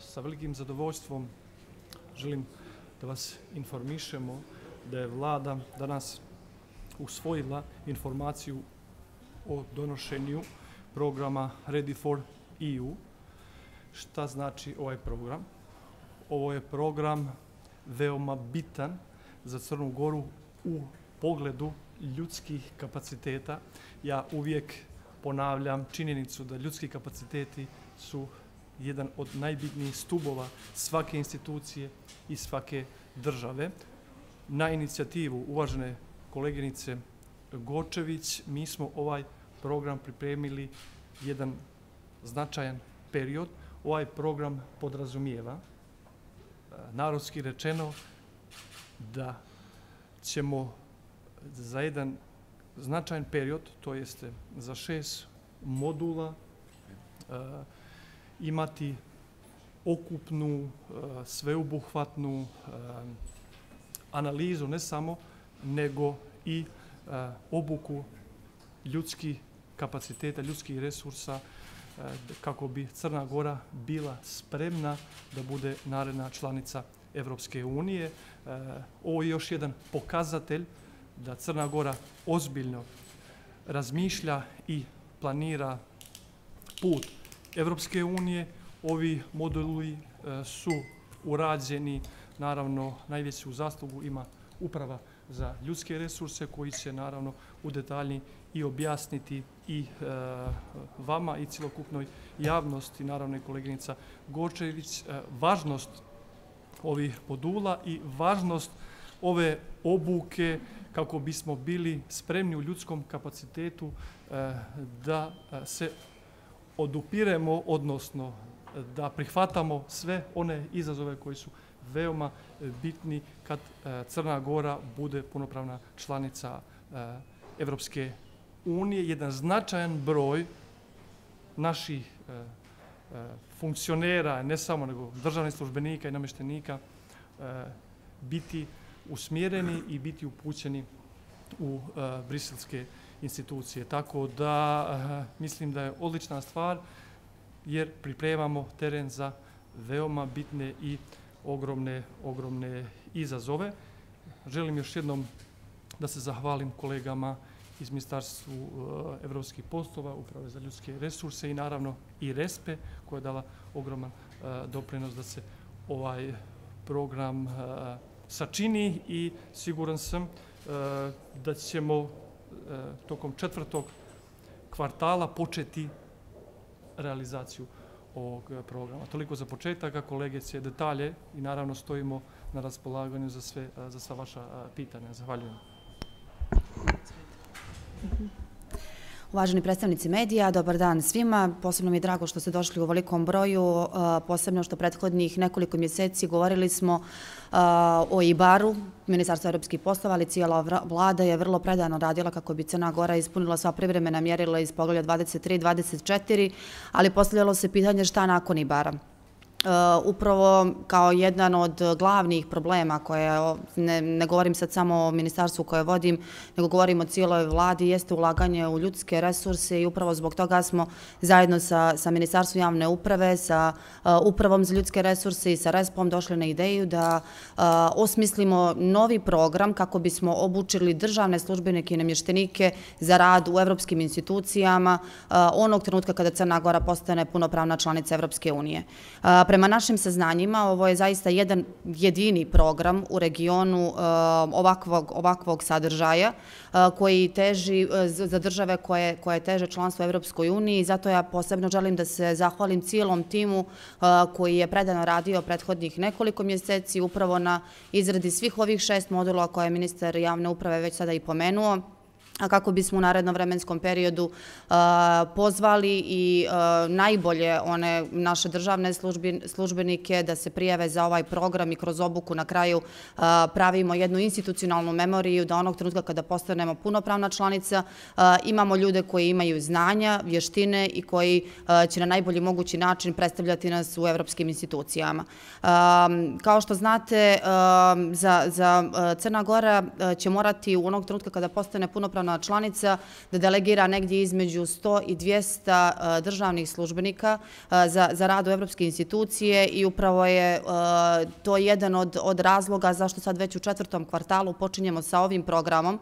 Sa velikim zadovoljstvom želim da vas informišemo da je Vlada danas usvojila informaciju o donošenju programa Ready for EU. Šta znači ovaj program? Ovo je program veoma bitan za Crnu Goru u pogledu ljudskih kapaciteta. Ja uvijek ponavljam činjenicu da ljudski kapaciteti su jedan od najbitnijih stubova svake institucije i svake države. Na inicijativu uvažene koleginice Gočević mi smo ovaj program pripremili jedan značajan period. Ovaj program podrazumijeva, narodski rečeno, da ćemo za jedan značajan period, to jeste za 6 modula, imati okupnu, sveobuhvatnu analizu, ne samo, nego i obuku ljudskih kapaciteta, ljudskih resursa, kako bi Crna Gora bila spremna da bude naredna članica Evropske unije. Ovo je još jedan pokazatelj da Crna Gora ozbiljno razmišlja i planira put Evropske unije. Ovi moduli su urađeni, naravno najveću zaslugu ima Uprava za ljudske resurse koji će naravno u detalji i objasniti i vama i cjelokupnoj javnosti, naravno i koleginica Gočević, važnost ovih modula i važnost ove obuke kako bismo bili spremni u ljudskom kapacitetu da se odupiremo, odnosno da prihvatamo sve one izazove koji su veoma bitni kad Crna Gora bude punopravna članica Evropske unije. Jedan značajan broj naših funkcionera, ne samo nego državnih službenika i namještenika, biti usmjereni i biti upućeni u briselske institucije. Tako da mislim da je odlična stvar jer pripremamo teren za veoma bitne i ogromne izazove. Želim još jednom da se zahvalim kolegama iz Ministarstva evropskih poslova, Uprave za ljudske resurse i naravno i RESPE koja je dala ogroman doprinos da se ovaj program sačini i siguran sam da ćemo tokom 4. kvartala početi realizaciju ovog programa. Toliko za početak, a kolege će detalje i naravno stojimo na raspolaganju za sva vaša pitanja. Zahvaljujem. Uvaženi predstavnici medija, dobar dan svima. Posebno mi je drago što ste došli u ovolikom broju, posebno što prethodnih nekoliko mjeseci govorili smo o IBAR-u, Ministarstvo evropskih poslova, ali cijela vlada je vrlo predano radila kako bi Crna Gora ispunila sva privremena mjerila iz poglavlja 23 i 24, ali postavljalo se pitanje šta nakon IBAR-a. Upravo kao jedan od glavnih problema koje, ne govorim sad samo o ministarstvu koje vodim, nego govorim o cijeloj vladi, jeste ulaganje u ljudske resurse i upravo zbog toga smo zajedno sa Ministarstvom javne uprave, sa Upravom za ljudske resurse i sa RESP-om došli na ideju da osmislimo novi program kako bismo obučili državne službenike i namještenike za rad u evropskim institucijama onog trenutka kada Crna Gora postane punopravna članica Evropske unije. Prema našim saznanjima, ovo je zaista jedan jedini program u regionu ovakvog sadržaja koji teži za države koje teže članstvo u Evropskoj uniji i zato ja posebno želim da se zahvalim cijelom timu koji je predano radio prethodnih nekoliko mjeseci upravo na izradi svih ovih 6 modula koje je ministar javne uprave već sada i pomenuo, a kako bismo u narednom vremenskom periodu pozvali i najbolje one naše državne službenike da se prijave za ovaj program i kroz obuku na kraju pravimo jednu institucionalnu memoriju da onog trenutka kada postanemo punopravna članica imamo ljude koji imaju znanja, vještine i koji će na najbolji mogući način predstavljati nas u evropskim institucijama. Kao što znate, za Crna Gora će morati u onog trenutka kada postane punopravna punopravna članica, da delegira negdje između 100 i 200 državnih službenika za rad u evropske institucije i upravo je to jedan od razloga zašto sad već u 4. kvartalu počinjemo sa ovim programom.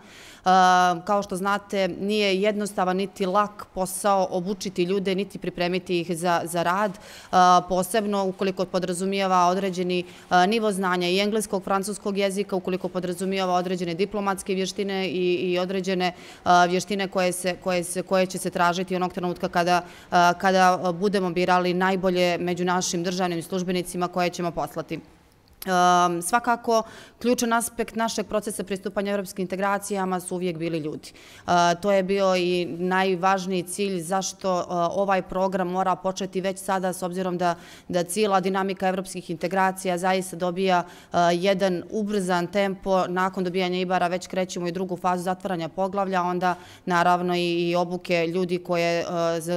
Kao što znate, nije jednostavan niti lak posao obučiti ljude, niti pripremiti ih za rad, posebno ukoliko podrazumijeva određeni nivo znanja i engleskog, francuskog jezika, ukoliko podrazumijeva određene diplomatske vještine i određene vještine koje će se tražiti onog trenutka kada budemo birali najbolje među našim državnim službenicima koje ćemo poslati. Svakako, ključan aspekt našeg procesa pristupanja evropskim integracijama su uvijek bili ljudi. To je bio i najvažniji cilj zašto ovaj program mora početi već sada, s obzirom da cijela dinamika evropskih integracija zaista dobija jedan ubrzan tempo. Nakon dobijanja IBAR-a već krećemo i drugu fazu zatvaranja poglavlja, onda naravno i obuke ljudi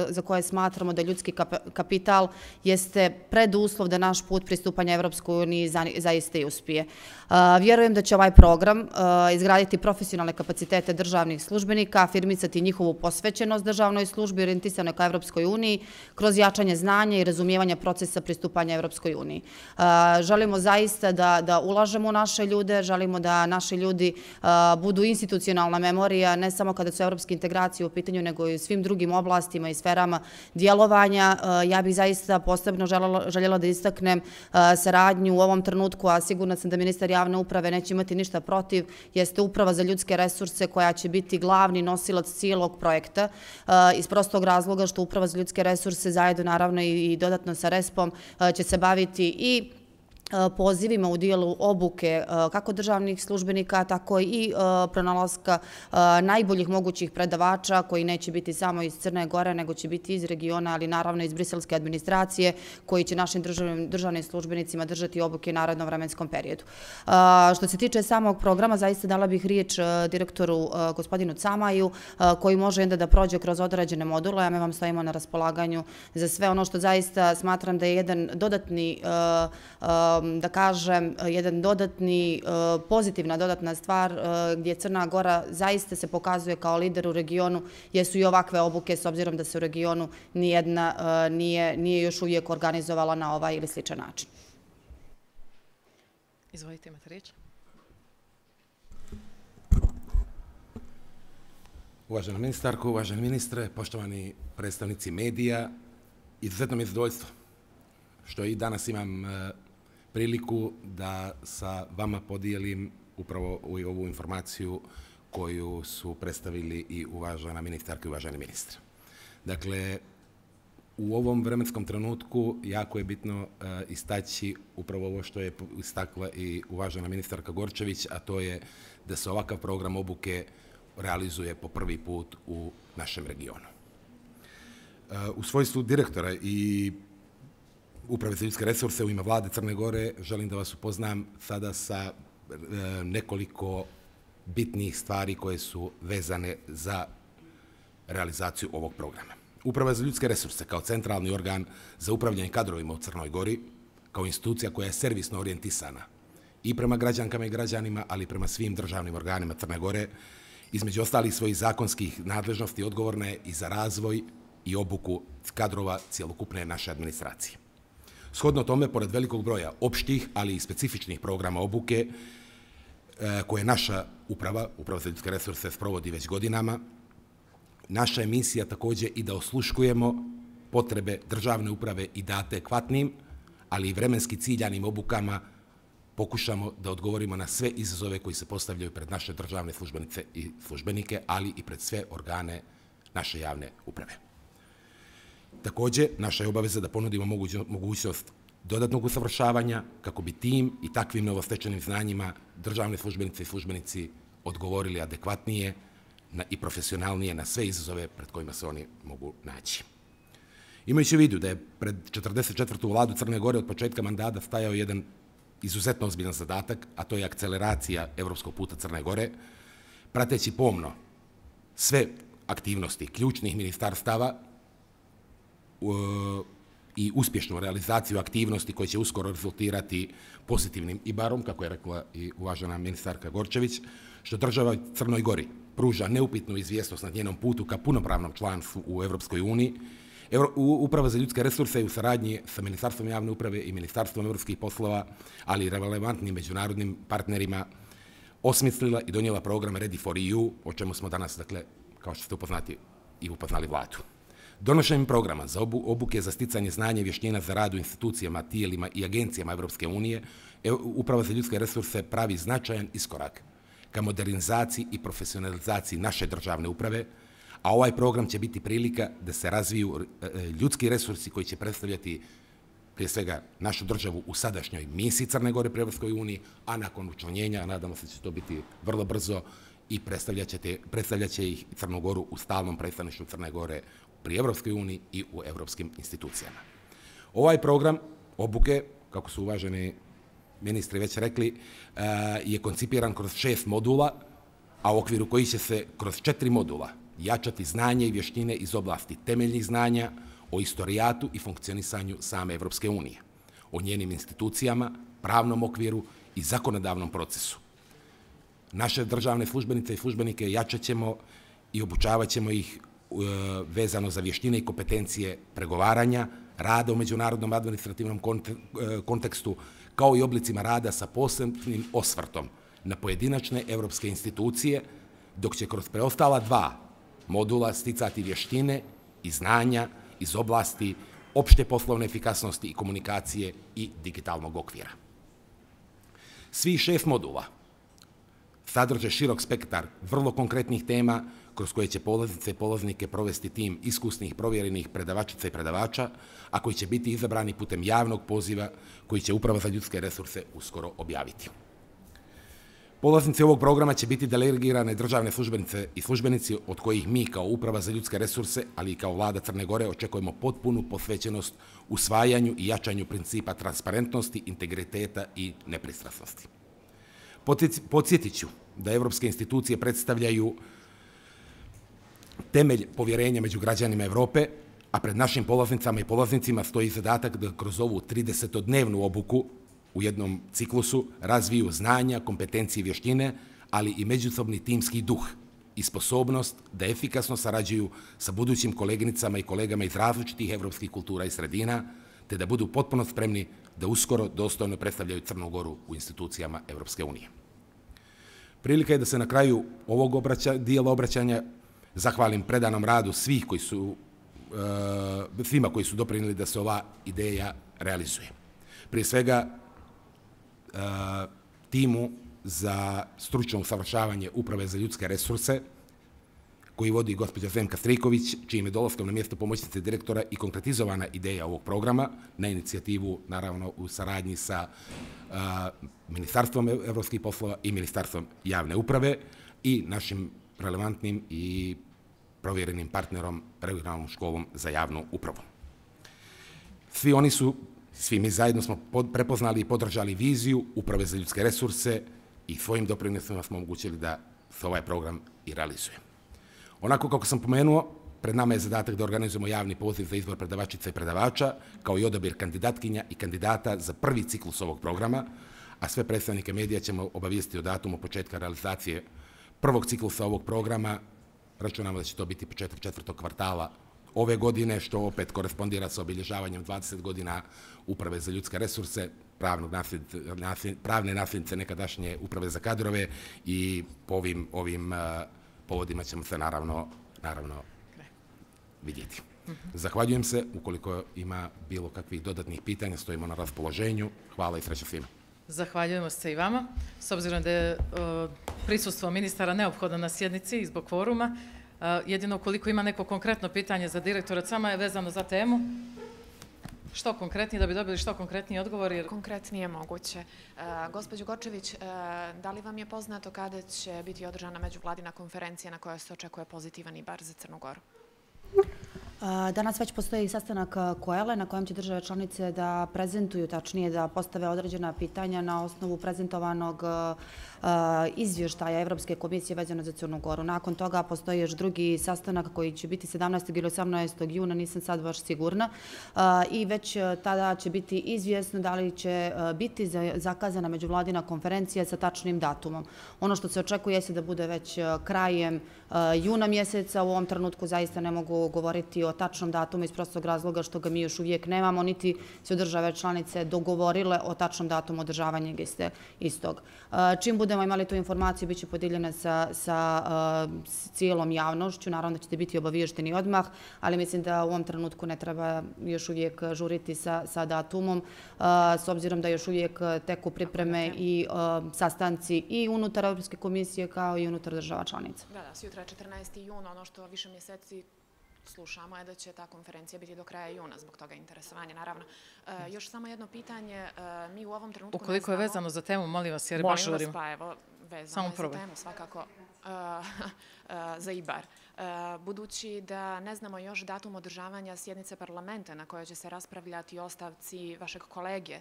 za koje smatramo da ljudski kapital jeste preduslov da naš put pristupanja Evropskoj uniji zaista i uspije. Vjerujem da će ovaj program izgraditi profesionalne kapacitete državnih službenika, afirmisati njihovu posvećenost državnoj službi orijentisanoj ka Evropskoj uniji kroz jačanje znanja i razumijevanja procesa pristupanja Evropskoj uniji. Želimo zaista da ulažemo u naše ljude, želimo da naši ljudi budu institucionalna memorija, ne samo kada su evropske integracije u pitanju, nego i u svim drugim oblastima i sferama djelovanja. Ja bih zaista posebno željela da istaknem saradnju u ovom trenutku, a sigurna sam da ministar javne uprave neće imati ništa protiv, jeste Uprava za ljudske resurse koja će biti glavni nosilac cijelog projekta iz prostog razloga što Uprava za ljudske resurse zajedno naravno i dodatno sa RESP-om će se baviti i pozivima u dijelu obuke kako državnih službenika, tako i pronalaska najboljih mogućih predavača koji neće biti samo iz Crne Gore, nego će biti iz regiona, ali naravno iz briselske administracije, koji će našim državnim službenicima držati obuke u narednom vremenskom periodu. Što se tiče samog programa, zaista dala bih riječ direktoru gospodinu Camaju, koji može da prođe kroz određene module, a mi vam stojimo na raspolaganju za sve ono što zaista smatram da je jedan dodatni da kažem, jedan pozitivna dodatna stvar gdje Crna Gora zaista se pokazuje kao lider u regionu, jesu i ovakve obuke, s obzirom da se u regionu nijedna nije još uvijek organizovala na ovaj ili sličan način. Izvolite, imate riječ. Uvažena ministarko, uvaženi ministre, poštovani predstavnici medija, izuzetno mi je zadovoljstvo što i danas imam priliku da sa vama podijelim upravo ovu informaciju koju su predstavili i uvažena ministarka i uvaženi ministri. Dakle, u ovom vremenskom trenutku jako je bitno istaći upravo ovo što je istakla i uvažena ministarka Gorčević, a to je da se ovakav program obuke realizuje po prvi put u našem regionu. U svojstvu direktora i Uprave za ljudske resurse u ime vlade Crne Gore želim da vas upoznam sada sa nekoliko bitnih stvari koje su vezane za realizaciju ovog programa. Uprava za ljudske resurse kao centralni organ za upravljanje kadrovima u Crnoj Gori, kao institucija koja je servisno orijentisana i prema građankama i građanima, ali i prema svim državnim organima Crne Gore, između ostalih svojih zakonskih nadležnosti odgovorna je i za razvoj i obuku kadrova cjelokupne naše administracije. Shodno tome, pored velikog broja opštih, ali i specifičnih programa obuke, koje naša Uprava za ljudske resurse sprovodi već godinama, naša je misija također i da osluškujemo potrebe državne uprave i da adekvatnim, ali i vremenski ciljanim obukama pokušamo da odgovorimo na sve izazove koji se postavljaju pred naše državne službenice i službenike, ali i pred sve organe naše javne uprave. Također, naša je obaveza da ponudimo mogućnost dodatnog usavršavanja kako bi tim i takvim novostečenim znanjima državne službenice i službenici odgovorili adekvatnije i profesionalnije na sve izazove pred kojima se oni mogu naći. Imajući u vidu da je pred 44. vladu Crne Gore od početka mandata stajao jedan izuzetno ozbiljan zadatak, a to je akceleracija evropskog puta Crne Gore, prateći pomno sve aktivnosti ključnih ministarstava i uspješnu realizaciju aktivnosti koje će uskoro rezultirati pozitivnim IBAR-om, kako je rekla i uvažena ministarka Gorčević, što država Crnoj Gori pruža neupitnu izvjesnost na njenom putu ka punopravnom članstvu u Evropskoj uniji, Uprava za ljudske resurse je u saradnji sa Ministarstvom javne uprave i Ministarstvom evropskih poslova, ali i relevantnim međunarodnim partnerima, osmislila i donijela program Ready for EU, o čemu smo danas, dakle, kao što ste upoznali vladu. Donošenjem programa za obuke za sticanje znanja i vještina za rad u institucijama, tijelima i agencijama Evropske unije, Uprava za ljudske resurse pravi značajan iskorak ka modernizaciji i profesionalizaciji naše državne uprave, a ovaj program će biti prilika da se razviju ljudski resursi koji će predstavljati prije svega našu državu u sadašnjoj misiji Crne Gore pri Evropskoj uniji, a nakon učlanjenja, nadamo se da će to biti vrlo brzo, i predstavljaće ih Crnu Goru u stalnom predstavništvu Crne Gore pri Evropskoj uniji i u evropskim institucijama. Ovaj program obuke, kako su uvaženi ministri već rekli, je koncipiran kroz 6 modula, a u okviru kojih će se kroz 4 modula jačati znanje i vještine iz oblasti temeljnih znanja o istorijatu i funkcionisanju same Evropske unije, o njenim institucijama, pravnom okviru i zakonodavnom procesu. Naše državne službenice i službenike jačat ćemo i obučavat ćemo ih vezano za vještine i kompetencije pregovaranja, rada u međunarodnom administrativnom kontekstu, kao i oblicima rada sa posebnim osvrtom na pojedinačne evropske institucije, dok će kroz preostala 2 modula sticati vještine i znanja iz oblasti opšte poslovne efikasnosti i komunikacije i digitalnog okvira. Svi 6 modula sadrže širok spektar vrlo konkretnih tema kroz koje će polaznice i polaznike provesti tim iskusnih, provjerenih predavačica i predavača, a koji će biti izabrani putem javnog poziva koji će Uprava za ljudske resurse uskoro objaviti. Polaznici ovog programa će biti delegirane državne službenice i službenici od kojih mi kao Uprava za ljudske resurse, ali i kao Vlada Crne Gore očekujemo potpunu posvećenost usvajanju i jačanju principa transparentnosti, integriteta i nepristrasnosti. Podsjetit ću da evropske institucije predstavljaju temelj povjerenja među građanima Evrope, a pred našim polaznicama i polaznicima stoji zadatak da kroz ovu 30-dnevnu obuku u jednom ciklusu razviju znanja, kompetencije i vještine, ali i međusobni timski duh i sposobnost da efikasno sarađuju sa budućim koleginicama i kolegama iz različitih evropskih kultura i sredina, te da budu potpuno spremni da uskoro dostojno predstavljaju Crnu Goru u institucijama Evropske unije. Prilika je da se na kraju ovog dijela obraćanja zahvalim predanom radu svima koji su doprinijeli da se ova ideja realizuje. Prije svega, timu za stručno usavršavanje Uprave za ljudske resurse, koji vodi gospođa Zemka Striković, čijim je dolaskom na mjesto pomoćnice direktora i konkretizovana ideja ovog programa, na inicijativu, naravno, u saradnji sa Ministarstvom evropskih poslova i Ministarstvom javne uprave i našim relevantnim i provjerenim partnerom, regionalnom školom za javnu upravu. Svi mi zajedno smo prepoznali i podržali viziju Uprave za ljudske resurse i svojim doprinosima smo omogućili da se ovaj program i realizuje. Onako kako sam pomenuo, pred nama je zadatak da organizujemo javni poziv za izbor predavačica i predavača, kao i odabir kandidatkinja i kandidata za prvi ciklus ovog programa, a sve predstavnike medija ćemo obavijestiti o datumu početka realizacije prvog ciklusa ovog programa. Računamo da će to biti početak 4. kvartala ove godine, što opet korespondira sa obilježavanjem 20 godina Uprave za ljudske resurse, pravne nasljednice nekadašnje Uprave za kadrove, i po ovim povodima ćemo se naravno vidjeti. Zahvaljujem se. Ukoliko ima bilo kakvih dodatnih pitanja, stojimo na raspoloženju. Hvala i sreća svima. Zahvaljujemo se i vama. S obzirom da je prisustvo ministara neophodno na sjednici i zbog kvoruma, jedino ukoliko ima neko konkretno pitanje za direktora CAMA je vezano za temu. Što konkretnije, da bi dobili što konkretniji odgovor? Konkretnije moguće. Gospođo Gorčević, da li vam je poznato kada će biti održana međuvladina konferencija na kojoj se očekuje pozitivan IBAR za Crnu Goru? Danas već postoji sastanak Koele na kojem će države članice da prezentuju, tačnije da postave određena pitanja na osnovu prezentovanog izvještaja Evropske komisije vezano za Crnu Goru. Nakon toga postoji još drugi sastanak koji će biti 17. ili 18. juna, nisam sad baš sigurna, i već tada će biti izvjesno da li će biti zakazana međuvladina konferencija sa tačnim datumom. Ono što se očekuje je da bude već krajem juna mjeseca. U ovom trenutku zaista ne mogu govoriti o tačnom datumu iz prostog razloga što ga mi još uvijek nemamo, niti su države članice dogovorile o tačnom datumu održavanja istog. Čim budemo imali tu informaciju, bit će podijeljena sa cijelom javnošću. Naravno da ćete biti obaviješteni odmah, ali mislim da u ovom trenutku ne treba još uvijek žuriti sa datumom, s obzirom da još uvijek teku pripreme i sastanci i unutar Evropske komisije kao i unutar država članica. Da, sutra je 14. juna, ono što više mjeseci slušamo je da će ta konferencija biti do kraja juna, zbog toga interesovanja, naravno. Još samo jedno pitanje, mi u ovom trenutku ne znamo... Ukoliko je vezano za temu, molim vas, jer baš žurimo. Molim vas, pa evo, vezano je za temu, svakako, za IBAR. Budući da ne znamo još datum održavanja sjednice parlamenta na kojoj će se raspravljati o ostavci vašeg kolege,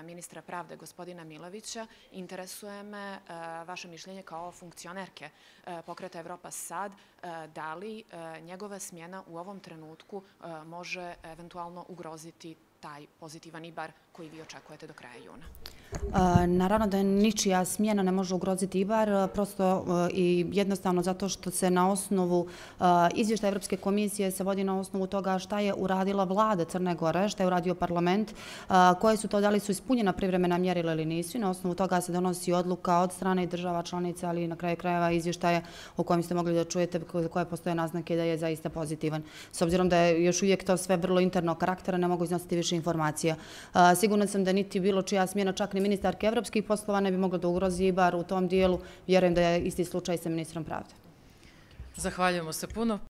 ministra pravde, gospodina Milovića, interesuje me vaše mišljenje kao funkcionerke pokreta Evropa Sad, da li njegova smjena u ovom trenutku može eventualno ugroziti taj pozitivan IBAR koji vi očekujete do kraja juna? Naravno da ničija smjena ne može ugroziti IBAR, prosto i jednostavno zato što se na osnovu izvještaja Evropske komisije se vodi na osnovu toga šta je uradila vlada Crne Gore, šta je uradio parlament, koje su to, da li su ispunjena privremena mjerila ili nisu. Na osnovu toga se donosi odluka od strane država članica, ali na kraju krajeva izvještaja u kojem ste mogli da čujete koje postoje naznake da je zaista pozitivan. S obzirom da je još uvijek to sve vrlo internog karaktera, ne mogu iznositi više informacija. Sigurno sam da niti bilo čija smjena, čak ni ministarke evropskih poslova ne bi mogla da ugrozi IBAR u tom dijelu. Vjerujem da je isti slučaj sa ministrom pravde. Zahvaljujemo se puno.